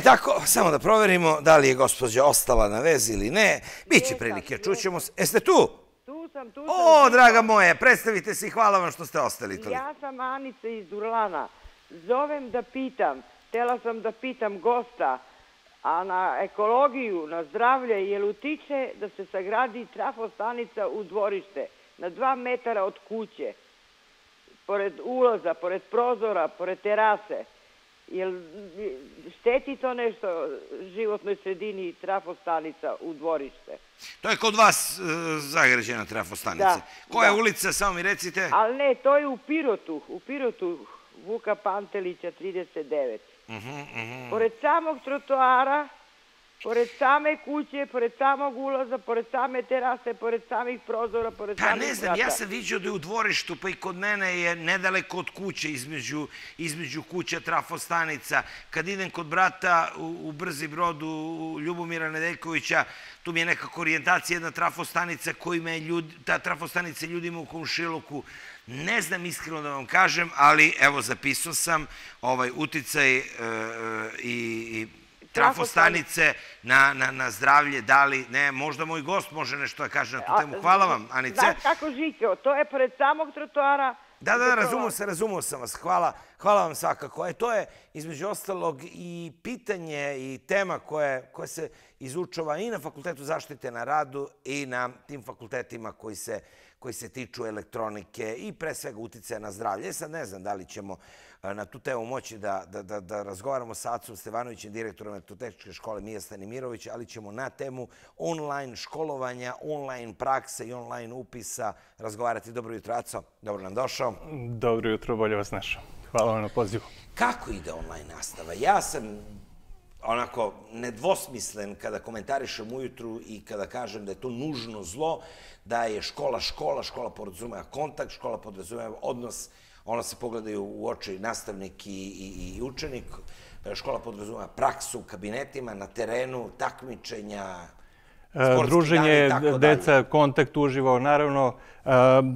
Tako, samo da proverimo da li je gospođa ostala na vezi ili ne. Biće prilike, čućemo se. Jeste tu? Tu sam. O, draga moje, predstavite se i hvala vam što ste ostali toliko. Ja sam Anica iz Durlana. Zovem da pitam, htjela sam da pitam gosta, a na ekologiju, na zdravlje, je li utiče da se sagradi trafostanica u dvorište na 2 metara od kuće, pored ulaza, pored prozora, pored terase? Jel šteti to nešto životnoj sredini trafostanica u dvorište? To je kod vas zagrađena trafostanica. Koja ulica, samo mi recite? Ali ne, to je u Pirotu, Vuka Pantelića 39. Pored samog trotoara, pored same kuće, pored samog ulaza, pored same terase, pored samih prozora, pored samih vrata. Pa ne znam, ja sam vidio da je u dvorištu, pa i kod mene je nedaleko od kuće, između kuća trafostanica. Kad idem kod brata u Brzi Brod, u Ljubomira Nedeljkovića, tu mi je nekako orijentacija jedna trafostanica ta trafostanica ljudima u komšiluku. Ne znam iskreno da vam kažem, ali evo zapisao sam uticaj i trafostanice na zdravlje, da li ne, možda moj gost može nešto da kaže na tu temu. Hvala vam, Anice. Znaš kako Žikeo, to je pored samog trotoara. Da, razumio sam vas, hvala vam svakako. To je između ostalog i pitanje i tema koja se izučava i na Fakultetu zaštite na radu i na tim fakultetima koji se tiču elektronike i pre svega uticaja na zdravlje. Sad ne znam da li ćemo na tu temu moći da razgovaramo sa Acom Stevanovićem, direktorom Elektrotehničke škole Mija Stanimirović, ali ćemo na temu online školovanja, online prakse i online upisa razgovarati. Dobro jutro, Aco. Dobro nam došao. Dobro jutro, bolje vas našao. Hvala vam na pozivu. Kako ide online nastava? Ja sam onako nedvosmislen kada komentarišem ujutru i kada kažem da je to nužno zlo, da je škola podrazumeva kontakt, škola podrazumeva odnos, ono se pogledaju u oči nastavnik i učenik, škola podrazumeva praksu u kabinetima, na terenu, takmičenja, druženje, deca, kontakt uživo, naravno,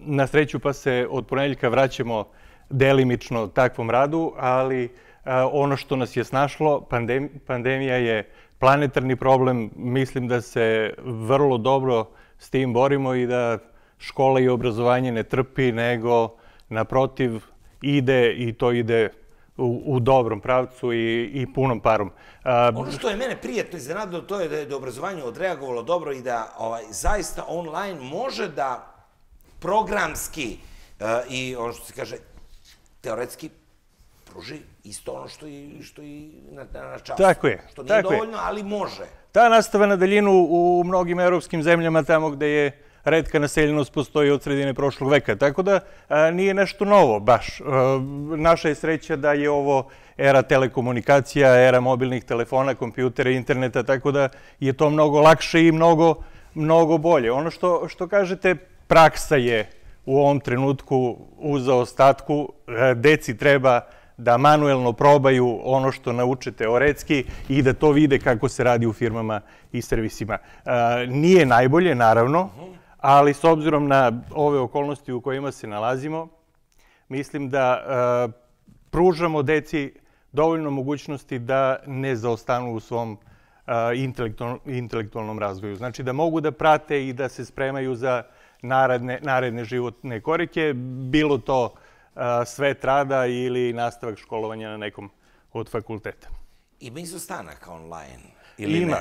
na sreću pa se od ponedeljka vraćamo delimično takvom radu, ali ono što nas je snašlo, pandemija je planetarni problem, mislim da se vrlo dobro s tim borimo i da škola i obrazovanje ne trpi, nego naprotiv ide i to ide u dobrom pravcu i punom parom. Ono što je mene prijatno iznenadilo, to je da je obrazovanje odreagovalo dobro i da zaista online može da programski i ono što se kaže teoretski pruži isto ono što i na času. Tako je. Što nije dovoljno, ali može. Ta nastava na daljinu u mnogim evropskim zemljama, tamo gde je retka naseljenost, postoji od sredine prošlog veka. Tako da nije nešto novo baš. Naša je sreća da je ovo era telekomunikacija, era mobilnih telefona, kompjutera, interneta, tako da je to mnogo lakše i mnogo bolje. Ono što kažete, praksa je u ovom trenutku u zaostatku. Deci treba da manuelno probaju ono što nauče teoretski i da to vide kako se radi u firmama i servisima. Nije najbolje, naravno, ali s obzirom na ove okolnosti u kojima se nalazimo, mislim da pružamo deci dovoljno mogućnosti da ne zaostanu u svom intelektualnom razvoju. Znači da mogu da prate i da se spremaju za naredne životne korake, bilo to svet rada ili nastavak školovanja na nekom od fakulteta. Ima izostanaka online?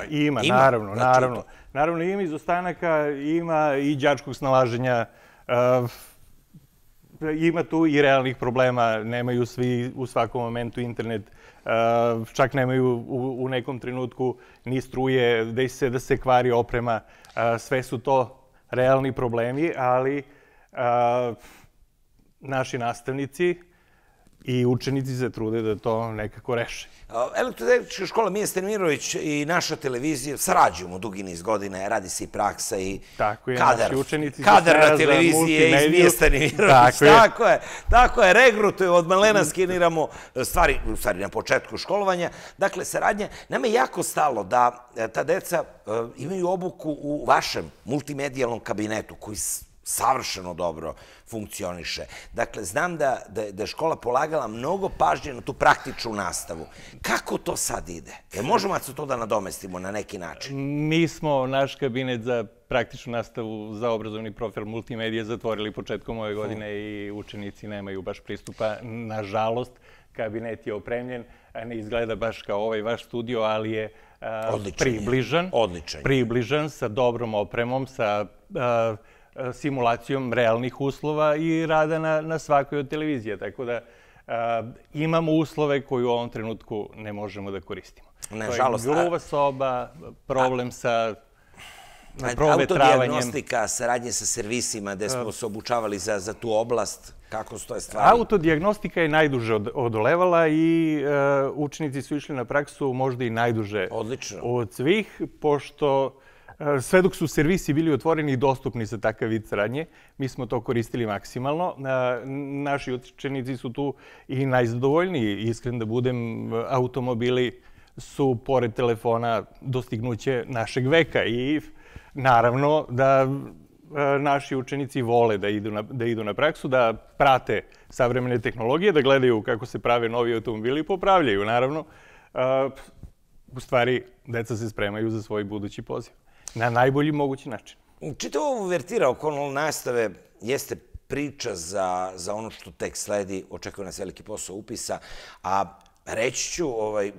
Ima, naravno. Naravno, ima izostanaka, ima i đačkog snalaženja, ima tu i realnih problema, nemaju svi u svakom momentu internet, čak nemaju u nekom trenutku ni struje, desi se da se kvari oprema, sve su to realni problemi, ali naši nastavnici i učenici se trude da to nekako reše. Elektrotehnička škola Mija Stanimirović i naša televizija sarađujemo dugi niz godina, radi se i praksa i kadar na televiziji iz Mija Stanimirović. Tako je, regrutujemo, od malena skeniramo stvari na početku školovanja. Dakle, saradnja, nama je jako stalo da ta deca imaju obuku u vašem multimedijalnom kabinetu koji savršeno dobro funkcioniše. Dakle, znam da je škola polagala mnogo pažnje na tu praktičnu nastavu. Kako to sad ide? Možemo se to da nadomestimo na neki način? Mi smo naš kabinet za praktičnu nastavu za obrazovni profil multimedije zatvorili početkom ove godine i učenici nemaju baš pristupa. Nažalost, kabinet je opremljen, ne izgleda baš kao ovaj vaš studio, ali je približan sa dobrom opremom, sa simulacijom realnih uslova i rada na svakoj od televizija. Tako da imamo uslove koje u ovom trenutku ne možemo da koristimo. Nažalost. To je gruba soba, problem sa provetravanjem. Autodijagnostika, saradnje sa servisima gde smo se obučavali za tu oblast, kako stoje stvari? Autodijagnostika je najduže odolevala i učenici su išli na praksu možda i najduže od svih, pošto sve dok su servisi bili otvoreni i dostupni za takav vid saradnje, mi smo to koristili maksimalno. Naši učenici su tu i najzadovoljniji. Iskren da budem, automobili su, pored telefona, dostignuće našeg veka i naravno da naši učenici vole da idu na praksu, da prate savremene tehnologije, da gledaju kako se prave novi automobili i popravljaju, naravno. U stvari, deca se spremaju za svoj budući poziv na najbolji mogući način. Čitava ova uvertira oko nastave jeste priča za ono što tek sledi, očekuje nas veliki posao upisa, a reći ću,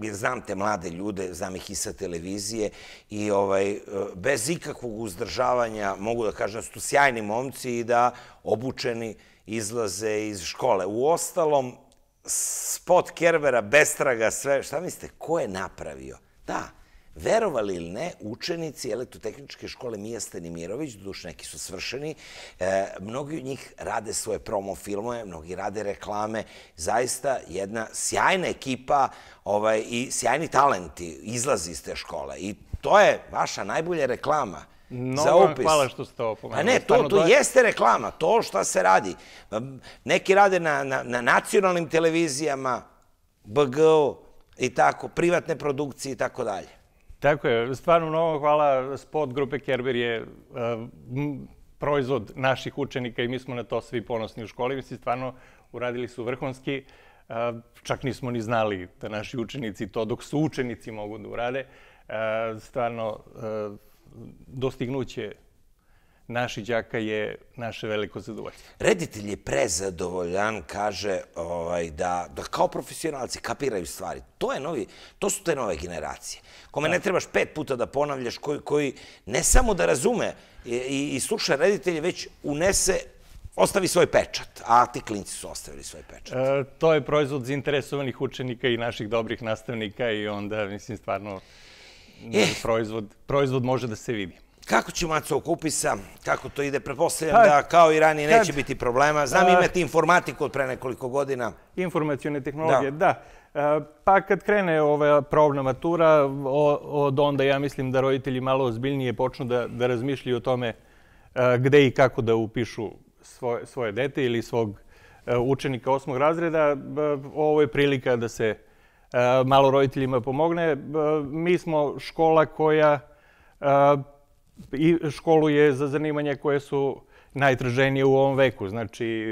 jer znam te mlade ljude, znam ih i sa televizije i bez ikakvog uzdržavanja mogu da kažem da su tu sjajni momci i da obučeni izlaze iz škole. Uostalom, spot Kerbera, bestraga, sve, šta mislite, ko je napravio? Da, verovali ili ne, učenici Elektrotehničke škole Mija Stanimirović, doduše neki su svršeni, mnogi od njih rade svoje promo filmove, mnogi rade reklame, zaista jedna sjajna ekipa i sjajni talenti izlazi iz te škole i to je vaša najbolja reklama za upis. Hvala što ste ovo pomenuli. Ne, to jeste reklama, to šta se radi. Neki rade na nacionalnim televizijama, BG-u i tako, privatne produkcije i tako dalje. Tako je, stvarno mnogo hvala. Spot grupe Kerber je proizvod naših učenika i mi smo na to svi ponosni u školi. Mislim, stvarno uradili su vrhunski. Čak nismo ni znali da naši učenici to, dok su učenici, mogu da urade. Stvarno, dostignuće naših đaka je naše veliko zadovoljstvo. Reditelj je prezadovoljan, kaže da kao profesionalci kapiraju stvari. To su te nove generacije. Kome ne trebaš 5 puta da ponavljaš, koji ne samo da razume i sluša reditelje, već ostavi svoj pečat. A ti klinci su ostavili svoj pečat. To je proizvod zainteresovanih učenika i naših dobrih nastavnika i onda, mislim, stvarno proizvod može da se vidi. Kako će Maco oko upisa? Kako to ide? Pretpostavljam da kao i ranije neće biti problema. Znam imate informatiku od pre nekoliko godina. Informacione tehnologije, da. Pa kad krene ova probna matura, od onda ja mislim da roditelji malo ozbiljnije počnu da razmišljaju o tome gde i kako da upišu svoje dete ili svog učenika 8. razreda. Ovo je prilika da se malo roditeljima pomogne. Mi smo škola koja školuje za zanimanja koje su najtraženije u ovom veku. Znači,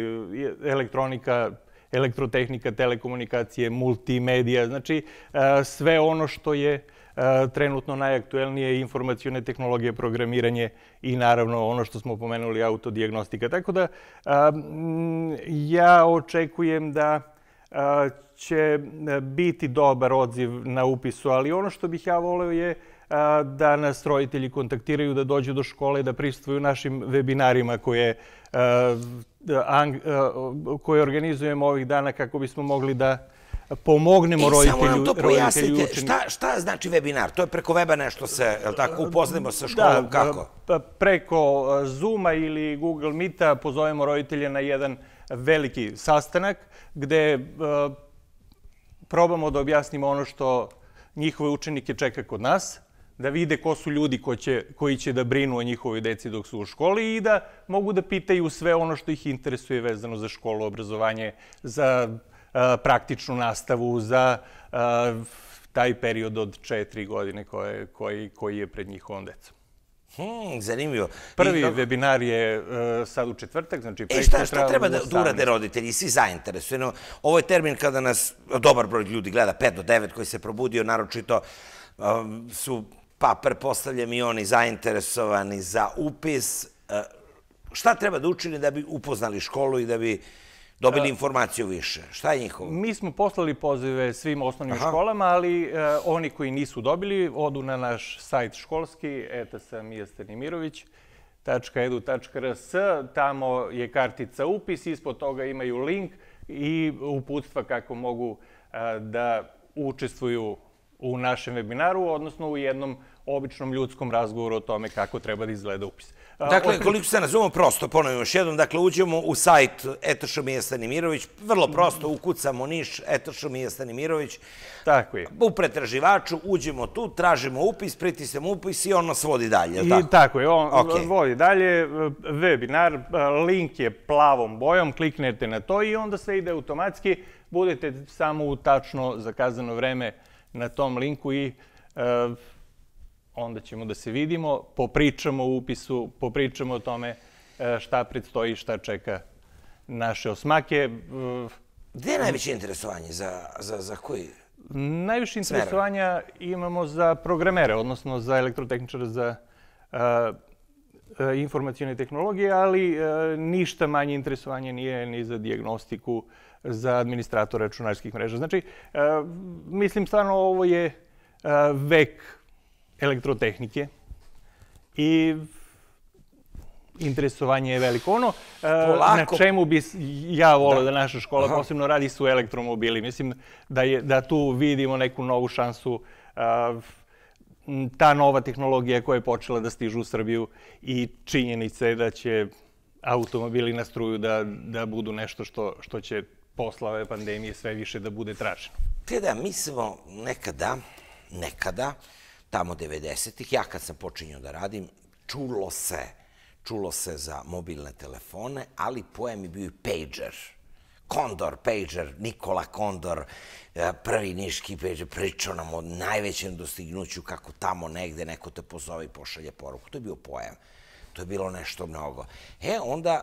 elektronika, elektrotehnika, telekomunikacije, multimedija, znači sve ono što je trenutno najaktuelnije, informacione tehnologije, programiranje i naravno ono što smo pomenuli, autodijagnostika. Tako da ja očekujem da će biti dobar odziv na upisu, ali ono što bih ja voleo je da nas roditelji kontaktiraju, da dođu do škole, da prisustvuju našim webinarima koje organizujemo ovih dana kako bismo mogli da pomognemo roditelju i učeniku. Samo nam to pojasnite, šta znači webinar? To je preko weba nešto se, upoznamo sa školom, kako? Preko Zooma ili Google Meeta pozovemo roditelje na jedan veliki sastanak gde probamo da objasnimo ono što njihove učenike čeka kod nas, da vide ko su ljudi koji će da brinu o njihovoj deci dok su u školi i da mogu da pitaju sve ono što ih interesuje vezano za školu, obrazovanje, za praktičnu nastavu, za taj period od 4 godine koji je pred njihovom decom. Zanimljivo. Prvi webinar je sad u četvrtak, znači šta treba da urade roditelji, svi zainteresujeni? Ovo je termin kada nas dobar broj ljudi gleda, 5 do 9 koji se probudio, naročito su, pa pretpostavljam i oni zainteresovani za upis. Šta treba da učini da bi upoznali školu i da bi dobili informaciju više? Šta je njihovo? Mi smo poslali pozive svim osnovnim školama, ali oni koji nisu dobili, odu na naš sajt školski, etasamija.stanimirović.edu.rs, tamo je kartica upis, ispod toga imaju link i uputstva kako mogu da učestvuju u našem webinaru, odnosno u jednom običnom ljudskom razgovoru o tome kako treba da izgleda upis. Dakle, koliko se nazovemo, prosto, ponovimo još jednom, dakle, uđemo u sajt Etašomija Stanimirović, vrlo prosto, ukucamo Niš, Etašomija Stanimirović. Tako je. U pretraživaču uđemo tu, tražimo upis, pritisnemo upis i on nas vodi dalje. I tako je, on vodi dalje. Webinar, link je plavom bojom, kliknete na to i onda sve ide automatski. Budete samo u tačno zakazano vreme na tom linku i onda ćemo da se vidimo, popričamo o upisu, popričamo o tome šta predstoji, šta čeka naše osmake. Gde je najveće interesovanje? Za koji? Najviše interesovanja imamo za programere, odnosno za elektrotehničare, za informacijone tehnologije, ali ništa manje interesovanje nije ni za dijagnostiku, za administratora računarskih mreža. Znači, mislim stvarno ovo je vek elektrotehnike i interesovanje je veliko. Ono na čemu bi ja volio da naša škola posebno radi su elektromobili. Mislim da tu vidimo neku novu šansu, ta nova tehnologija koja je počela da stižu u Srbiju i činjenica je da će automobili na struju da budu nešto što će posle ove pandemije sve više da bude traženo. Mi smo nekada, tamo 90-ih, ja kad sam počinjao da radim, čulo se za mobilne telefone, ali pojam je bio i pager. Kondor, pager, Nikola Kondor, prvi niški pager, pričao nam o najvećem dostignuću kako tamo negde neko te pozove i pošalje poruku. To je bio pojam. To je bilo nešto mnogo. Onda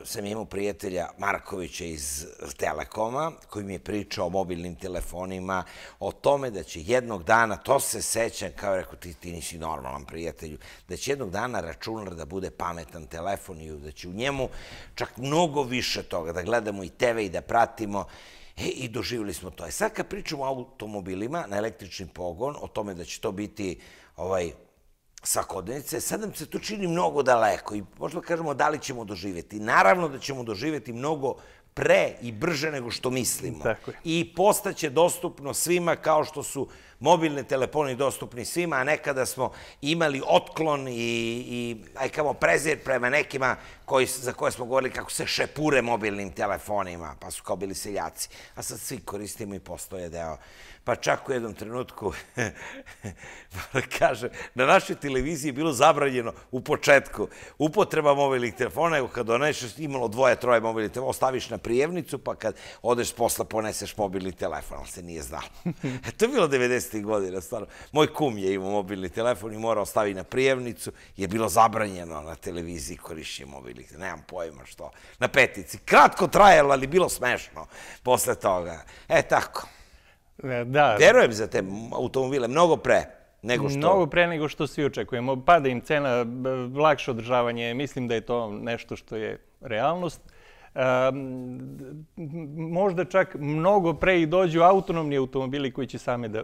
sam imao prijatelja Markovića iz Telekoma, koji mi je pričao o mobilnim telefonima, o tome da će jednog dana, to se sećam, kao je rekao, ti nisi normalan prijatelju, da će jednog dana računar da bude pametan telefon i da će u njemu čak mnogo više toga, da gledamo i TV i da pratimo. I doživjeli smo to. Sad kad pričamo o automobilima na električni pogon, o tome da će to biti svakodnevnice, sad nam se to čini mnogo daleko i možda kažemo da li ćemo doživjeti. Naravno da ćemo doživjeti mnogo pre i brže nego što mislimo. I postaće dostupno svima kao što su mobilni telefoni dostupni svima, a nekada smo imali otklon i prezir prema nekima za koje smo govorili kako se šepure mobilnim telefonima, pa su kao bili seljaci. A sad svi koristimo i postoje deo. Pa čak u jednom trenutku, kaže, na našoj televiziji je bilo zabranjeno u početku upotreba mobilnih telefona, nego kad doneseš, imalo 2-3 mobilnih telefona, ostaviš na prijemnicu, pa kad odeš posla poneseš mobilni telefon, ali se nije znalo. To je bilo 90. godina, stvarno. Moj kum je imao mobilni telefon i morao staviti na prijemnicu, je bilo zabranjeno na televiziji korišćenje mobilnih telefona. Nemam pojma što. Na petici. Kratko trajalo, ali bilo smešno posle toga. Tako. Verujem za te automobile mnogo pre nego što... Mnogo pre nego što svi očekujemo. Pada im cena, lakše održavanje. Mislim da je to nešto što je realnost. Možda čak mnogo pre i dođu autonomni automobili koji će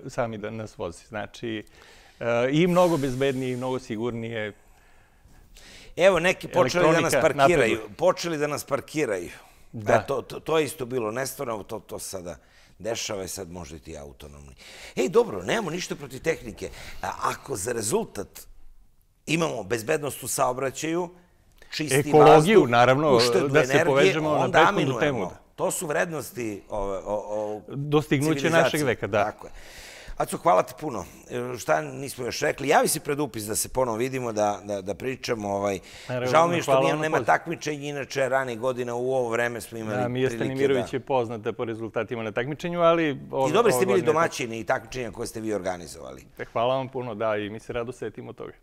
sami da nas vozi. Znači, i mnogo bezbednije i mnogo sigurnije. Evo, neki počeli da nas parkiraju. To je isto bilo nestvarno, to sada dešava i sad možda i ti autonomni. Dobro, nemamo ništa protiv tehnike. Ako za rezultat imamo bezbednost u saobraćaju, čisti vazduh, ekologiju, naravno, da se povežemo na prethodnu temu. To su vrednosti dostignuće našeg veka, da. Tako je. Aco, hvala ti puno. Šta nismo još rekli? Javi si pred upis da se ponovo vidimo, da pričamo. Žao mi je što nema takmičenja, inače ranih godina u ovo vreme smo imali prilike da... Mija Stanimirović je poznata po rezultatima na takmičenju, ali... I dobri ste bili domaćini i takmičenja koje ste vi organizovali. Hvala vam puno, da, i mi se rado setimo toga.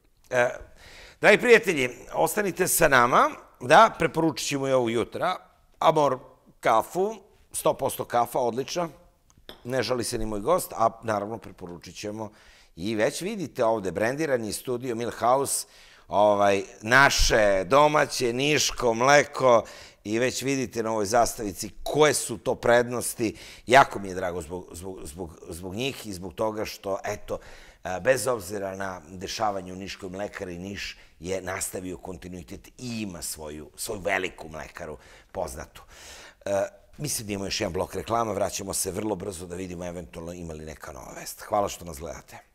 Dragi prijatelji, ostanite sa nama, da, preporučit ćemo i ovu jutra, Amor kafu, 100% kafa, odlična, ne žali se ni moj gost, a naravno preporučit ćemo i već vidite ovde brendirani studio Milhouse, naše domaće niško mleko i već vidite na ovoj zastavici koje su to prednosti. Jako mi je drago zbog njih i zbog toga što, eto, bez obzira na dešavanje u Niškoj mlekari, Niš je nastavio kontinuitet i ima svoju veliku mlekaru poznatu. Mislim da imamo još jedan blok reklama, vraćamo se vrlo brzo da vidimo eventualno ima li neka nova vest. Hvala što nas gledate.